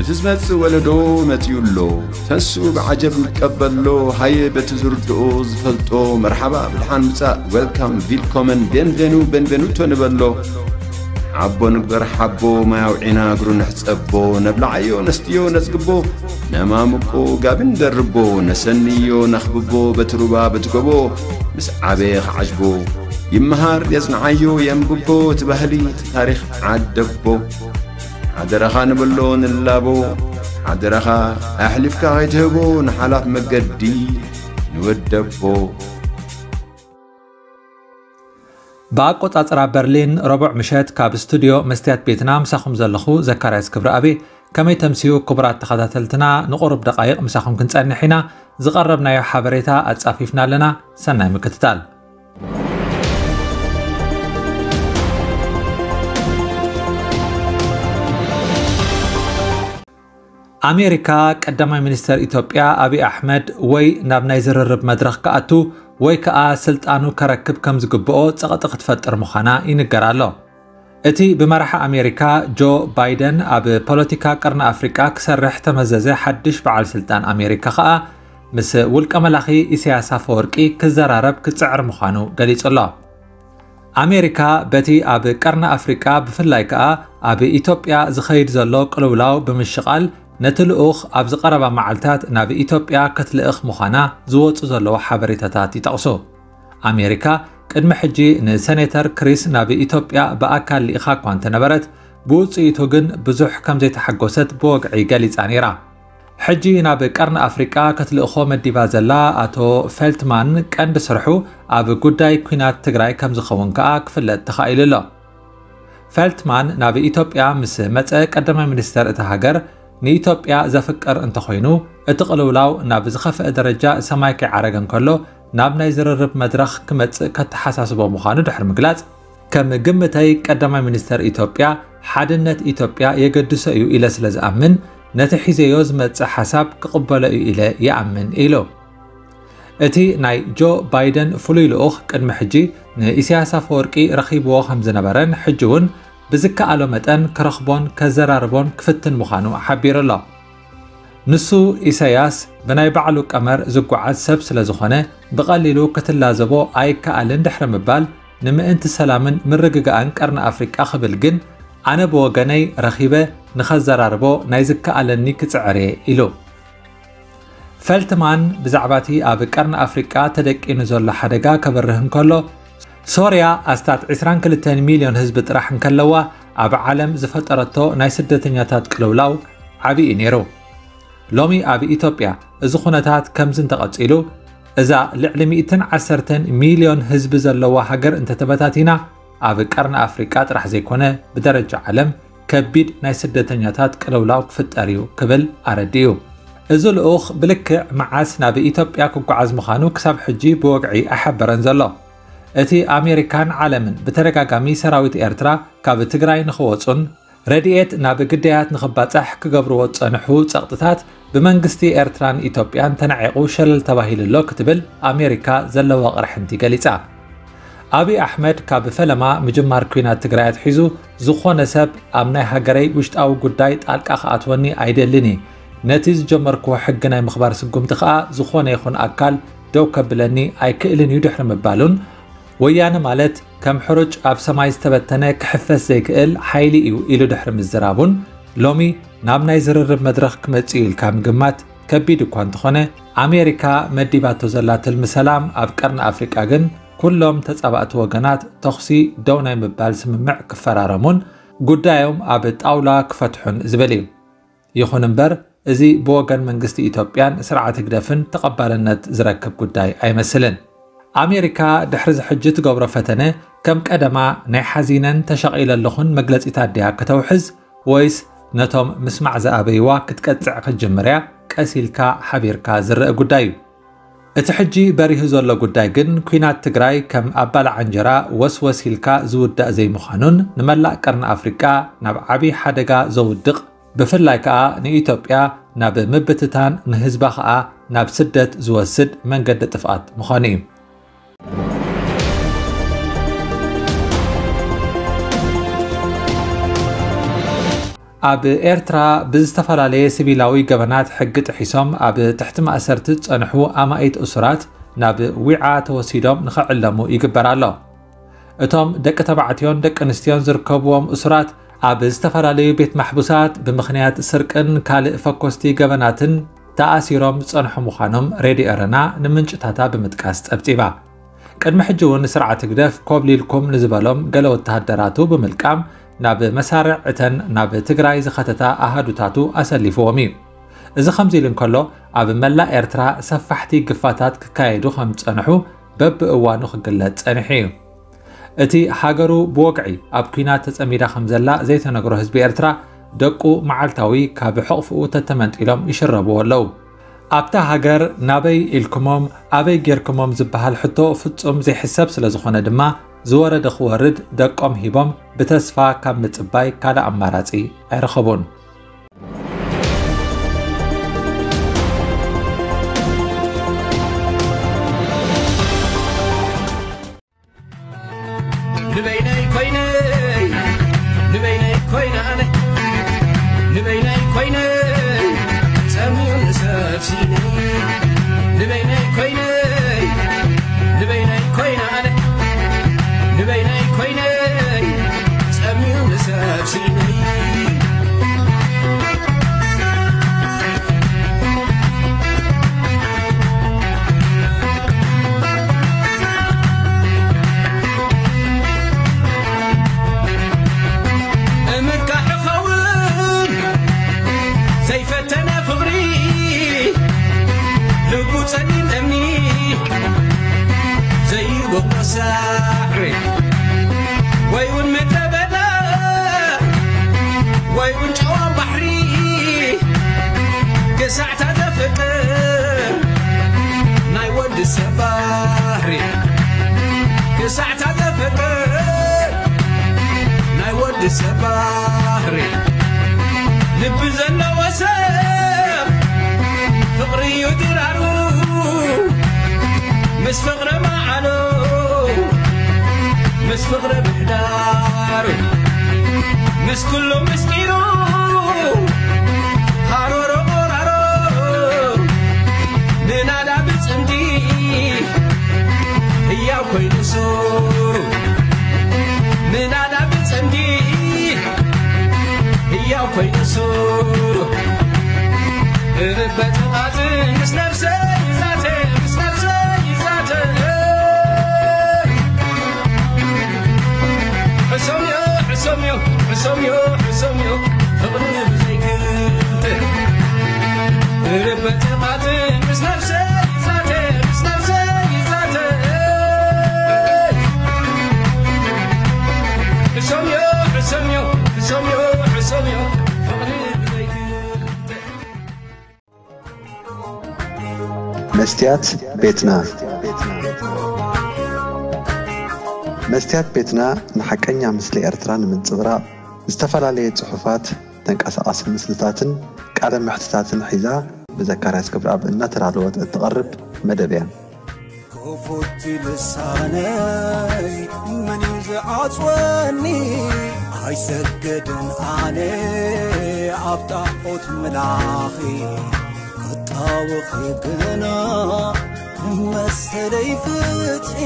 እቲ ዝመጽእ ወለዶ መጺኡ ኣሎ። ተንስኡ ብዓጀብ ንቀበሎ። ሃየ በቲ ዝርድኦ ዝፈልጦ መርሓባ ብድሓን ምጻእ፣ ዌልካም፣ ቪልኮመን፣ ቤንቬኑ፣ ቤንቬኑቶ ንበሎ። ሓቦ ንግበር ሓቦ፣ ማይ ኣውዒና እግሩ ንሕጸቦ። ነብልዓዮ ነስትዮ ነጽግቦ፣ ነማምቆ ጋቢ ንደርቦ። ነሰንዮ ነኽብቦ በቲ ሩባ በቲ ጎቦ። ምስ ዓበየ ክዓጅቦ ይመሃር የጽንዓዮ የንብቦ። እቲ ባህሊ እቲ ታሪኽ ዓደቦ። ሓደራኻ ንብሎ ንላቦ። ሓደራኻ ኣሕሊፍካ ከይትህቦ ንሓላፍ መገዲ ንወደቦ። ብኣቆጻጽራ በርሊን ረቡዕ ምሸት ካብ ስቱድዮ መስትያት ቤትና ምሳኹም ዘለኹ ዘካርያስ ክብረኣብ። ከመይ ተምስዩ ክቡራት ተኸታተልትና? ንቑሩብ ደቓይቕ ምሳኹም ክንጸንሕ ኢና። ዝቐረብናዮ ሓበሬታ ኣጻፊፍና ኣለና። ሰናይ ምክትታል። ኣሜሪካ ቀዳማይ ሚኒስተር ኢትዮጵያ ኣብይ ኣሕመድ ወይ ናብ ናይ ዝርርብ መድረኽ ክኣቱ ወይ ከኣ ስልጣኑ ከረክብ ከም ዝግብኦ ጸቕጢ ክትፈጥር ምዃና ይንገር ኣሎ። እቲ ብመራሒ ኣሜሪካ ጆ ባይደን ኣብ ፖለቲካ ቀርኒ ኣፍሪቃ ክሰርሕ ተመዘዘ ሓድሽ በዓል ስልጣን ኣሜሪካ ከኣ ምስ ውልቀ መላኺ ኢሳያስ ኣፈወርቂ ክዘራረብ ክጽዕር ምዃኑ ገሊጹ ኣሎ። ኣሜሪካ በቲ ኣብ ቀርኒ ኣፍሪቃ ብፍላይ ከኣ ኣብ ኢትዮጵያ ዝኸይድ ዘሎ ቅልውላው ብምሽቓል ነቲ ልኡኽ ኣብዚ ቀረባ መዓልታት ናብ ኢትዮጵያ ክትልእኽ ምዃና ዝወጹ ዘለዉ ሓበሬታታት ይጠቕሱ። ኣሜሪካ ቅድሚ ሕጂ ንሰኔተር ክሪስ ናብ ኢትዮጵያ ብኣካል ልኢኻ እኳ እንተነበረት፣ ብውጽኢቱ ግን ብዙሕ ከም ዘይተሓጎሰት ብወግዒ ገሊጻ ነይራ። ሕጂ ናብ ቀርኒ ኣፍሪቃ ክትልእኾ መዲባ ዘላ ኣቶ ፌልትማን ቀንዲ ስርሑ ኣብ ጉዳይ ኲናት ትግራይ ከም ዝኸውን ከኣ ክፍለጥ ተኻኢሉ ኣሎ። ፌልትማን ናብ ኢትዮጵያ ምስ መጸ ቀዳማይ ሚኒስተር እታ ሃገር ንኢትዮጵያ ዘፍቅር እንተኾይኑ፣ እቲ ቅልውላው ናብ ዝኸፍአ ደረጃ ሰማይ ከይዓረገ እንከሎ ናብ ናይ ዝርርብ መድረኽ ክመጽእ ከተሓሳስቦ ምዃኑ ድሕሪ ምግላጽ፣ ከም ግምተይ ቀዳማይ ሚኒስተር ኢትዮጵያ ሓድነት ኢትዮጵያ የገድሶ እዩ ኢለ ስለ ዝኣምን፣ ነቲ ሒዘዮ ዝመጽእ ሓሳብ ክቕበሎ እዩ ኢለ ይኣምን ኢሉ። እቲ ናይ ጆ ባይደን ፍሉይ ልኡኽ ቅድሚ ሕጂ ንኢሳያስ ኣፈወርቂ ረኺብዎ ከም ዝነበረን ሕጂ እውን ብዝከኣሎ መጠን ክረኽቦን ከዘራርቦን ክፍትን ምዃኑ ሓቢሩ ኣሎ። ንሱ ኢሳያስ ብናይ ባዕሉ ቀመር ዝጓዓዝ ሰብ ስለ ዝኾነ ብቐሊሉ ክትላዘቦ ኣይከኣልን ድሕሪ ምባል፣ ንምእንቲ ሰላምን ምርግጋእን ቀርኒ ኣፍሪቃ ክብል ግን ኣነ ብወገነይ ረኺበ ንኸዘራርቦ ናይ ዝከኣለኒ ክጽዕር እየ ኢሉ። ፈልትማን ብዛዕባ እቲ ኣብ ቀርኒ ኣፍሪቃ ተደቂኑ ዘሎ ሓደጋ ከብርህ እንከሎ፣ ሶርያ ኣስታት ዕስራን ክልተን ሚልዮን ህዝቢ ጥራሕ እንከለዋ፣ ኣብ ዓለም ዝፈጠረቶ ናይ ስደተኛታት ቅልውላው ዓቢ እዩ ነይሩ። ሎሚ ኣብ ኢትዮጵያ እዚ ኩነታት ከምዚ እንተቐጺሉ፣ እዛ ልዕሊ ሚእትን ዓሰርተን ሚልዮን ህዝቢ ዘለዋ ሃገር እንተተበታቲና፣ ኣብ ቀርኒ ኣፍሪቃ ጥራሕ ዘይኮነ፣ ብደረጃ ዓለም ከቢድ ናይ ስደተኛታት ቅልውላው ክፍጠር እዩ ክብል ኣረዲኡ። እዚ ልኡኽ ብልክዕ መዓስ ናብ ኢትዮጵያ ክጓዓዝ ምዃኑ ክሳብ ሕጂ ብወግዒ ኣይሓበረን ዘሎ። እቲ ኣሜሪካን ዓለምን ብተደጋጋሚ ሰራዊት ኤርትራ ካብ ትግራይ ንኽወጹን ረድኤት ናብ ግዳያት ንኽባጻሕ ክገብርዎ ዝጸንሑ ጸቕጥታት ብመንግስቲ ኤርትራን ኢትዮጵያን ተናዒቑ ሸለል ተባሂሉ ኣሎ ክትብል ኣሜሪካ ዘለዋ ቅርሕንቲ ገሊጻ። ኣብይ ኣሕመድ ካብ ፈለማ ምጅማር ኲናት ትግራይ ኣትሒዙ፣ ዝኾነ ሰብ ኣብ ናይ ሃገረይ ውሽጣዊ ጉዳይ ጣልቃ ክኣትወኒ ኣይደልን እየ፣ ነቲ ዝጀመርክዎ ሕጊ ናይ ምኽባር ስጉምቲ ከኣ ዝኾነ ይኹን ኣካል ደው ከብለኒ ኣይክእልን እዩ ድሕሪ ምባሉን፣ ወያነ ማለት ከም ሕሩጭ ኣብ ሰማይ ዝተበተነ ክሕፈስ ዘይክእል ሓይሊ እዩ ኢሉ ድሕሪ ምዝራቡን፣ ሎሚ ናብ ናይ ዝርርብ መድረኽ ክመጽእ እዩ ኢልካ ምግማት ከቢድ እኳ እንተኾነ፣ ኣሜሪካ መዲባቶ ዘላ ትልሚ ሰላም ኣብ ቀርኒ ኣፍሪቃ ግን፣ ኩሎም ተጻባእቲ ወገናት ተኹሲ ደው ናይ ምባል ስምምዕ ክፈራረሙን ጉዳዮም ኣብ ጣውላ ክፈትሑን ዝብል እዩ። ይኹን እምበር፣ እዚ ብወገን መንግስቲ ኢትዮጵያን ስርዓት ህግደፍን ተቐባልነት ዝረክብ ጉዳይ ኣይመስልን። ኣሜሪካ ድሕሪ እዚ ሕጂ ትገብሮ ፈተነ፣ ከም ቀደማ ናይ ሓዚነን ተሸቒለ ኣለኹን መግለጺታት ድያ ከተውሕዝ፣ ወይስ ነቶም ምስማዕ ዝኣበይዋ ክትቀጽዕ ክትጅምር እያ፣ ቀስ ኢልካ ሓቢርካ ዝረአ ጉዳይ እዩ። እቲ ሕጂ በሪሁ ዘሎ ጉዳይ ግን፣ ኲናት ትግራይ ከም ኣባላዕ እንጀራ ወስወስ ኢልካ ዝውዳእ ዘይምዃኑን፣ ንመላእ ቀርኒ ኣፍሪቃ ናብ ዓቢ ሓደጋ ዘውድቕ፣ ብፍላይ ከኣ ንኢትዮጵያ ናብ ምብትታን፣ ንህዝባ ከኣ ናብ ስደት ዝወስድ መንገዲ ጥፍኣት ምዃኑ እዩ። ኣብ ኤርትራ ብዝተፈላለየ ሲቪላዊ ገበናት ሕጊ ጥሒሶም ኣብ ትሕቲ ማእሰርቲ ዝጸንሑ ኣማኢት እሱራት ናብ ዊዓ ተወሲዶም ንኽዕለሙ ይግበር ኣሎ። እቶም ደቂ ተባዕትዮን ደቂ ኣንስትዮን ዝርከብዎም እሱራት ኣብ ዝተፈላለዩ ቤት ማሕቡሳት ብምኽንያት ስርቅን ካልእ ፈኮስቲ ገበናትን ተኣሲሮም ዝጸንሑ ምዃኖም ሬድዮ ኤረና ንምንጭታታ ብምጥቃስ ጸብጺባ። ቅድሚ ሕጂ እውን ስርዓት ህግደፍ ኮብሊልኩም ንዝበሎም ገለ ወተሃደራቱ ብምልቃም ናብ መሳርዕ እተን ናብ ትግራይ ዝኸተታ ኣሃዱታቱ ኣሰሊፍዎም እዩ። እዚ ከምዚ ኢሉ እንከሎ፣ ኣብ መላእ ኤርትራ ሰፋሕቲ ግፋታት ክካየዱ ከም ዝጸንሑ በብእዋኑ ክግለጽ ጸኒሑ እዩ። እቲ ሃገሩ ብወግዒ ኣብ ኲናት ተጸሚዳ ከም ዘላ ዘይተነግሮ ህዝቢ ኤርትራ፣ ደቁ መዓልታዊ ካብ ሕቕፍኡ ተተመንጢሎም ይሽረብዎ ኣለዉ። ኣብታ ሃገር ናበይ ኢልኩሞም፣ ኣበይ ጌርኩሞም ዝበሃል ሕቶ ፍጹም ዘይሕሰብ ስለ ዝኾነ ድማ፣ ዝወረደ ክወርድ ደቆም ሂቦም ብተስፋ ካብ ምጽባይ ካልእ ኣማራጺ ኣይረኸቡን። ንበይነይ ኮይነ፣ ንበይነይ ኮይነ ኣነ፣ ንበይነይ ኮይነ ጸሚኡኒ ሰብ ሲነ። ንበይነይ ኮይነ፣ ንበይነይ ኮይነ ኣነ፣ ንበይነይ ኮይነ ጸሚኡኒ ሰብ ሲነ። እምካሕ ኸውን ዘይፈተነ ፍቕሪ ልቡ ጸሊም እምኒ ዘይበቕሎ ሳዕሪ ወይ እውን ምድረ በዳ ወይ እውን ጨዋ ባሕሪ ክሳዕታ ዘፍቅር ናይ ወዲ ሰብ ባህሪ ክሳዕታ ዘፍቅር ናይ ወዲ ሰብ ባህሪ ልቢ ዘለዎ ሰብ ፍቕሪ እዩ ድራሩ ምስ ፍቕሪ መዓሉ ምስ ፍቕሪ ምሕዳሩ ምስ ኩሉ ምስጢሩ ሃሮሮ ቆራሮ ንናዳ ብጽምዲ ህያው ኮይኑ ሱሩ ንናዳ ብጽምዲ ህያው ኮይኑ ሱሩ እበጥቓት ምስ ነፍሰይ ይዛተ ምስ ነፍሰይ ይዛተ ሕሶምዮ ሕሶምዮ ሕሶምዮ ሕሶምዮ ፍቕሪ ብዘይክልተ እበጥቓት ምስ ነፍሰይ ይዛተ ምስ ነፍሰይ ይዛተ ሕሶምዮ ሕሶምዮ ሕሶምዮ ሕሶምዮ ፍቕሪ ብዘይክልተ መስትያት ቤትና። መስትያት ቤትና ንሓቀኛ ምስሊ ኤርትራ ንምንጽብራቕ ዝተፈላለየ ጽሑፋት፣ ተንቀሳቓሲ ምስልታትን ቃለ መሕትታትን ሒዛ ብዘካርያስ ገብረኣብ እናተዳለወት እትቐርብ መደብ እያ። ክፉት ልሳነይ መን እዩ ዝዓጽወኒ? ኣይሰግድን ኣነ ኣብ ጣዖት ምላኺ ክጣወኺ ግና መሰለይ ፍትሒ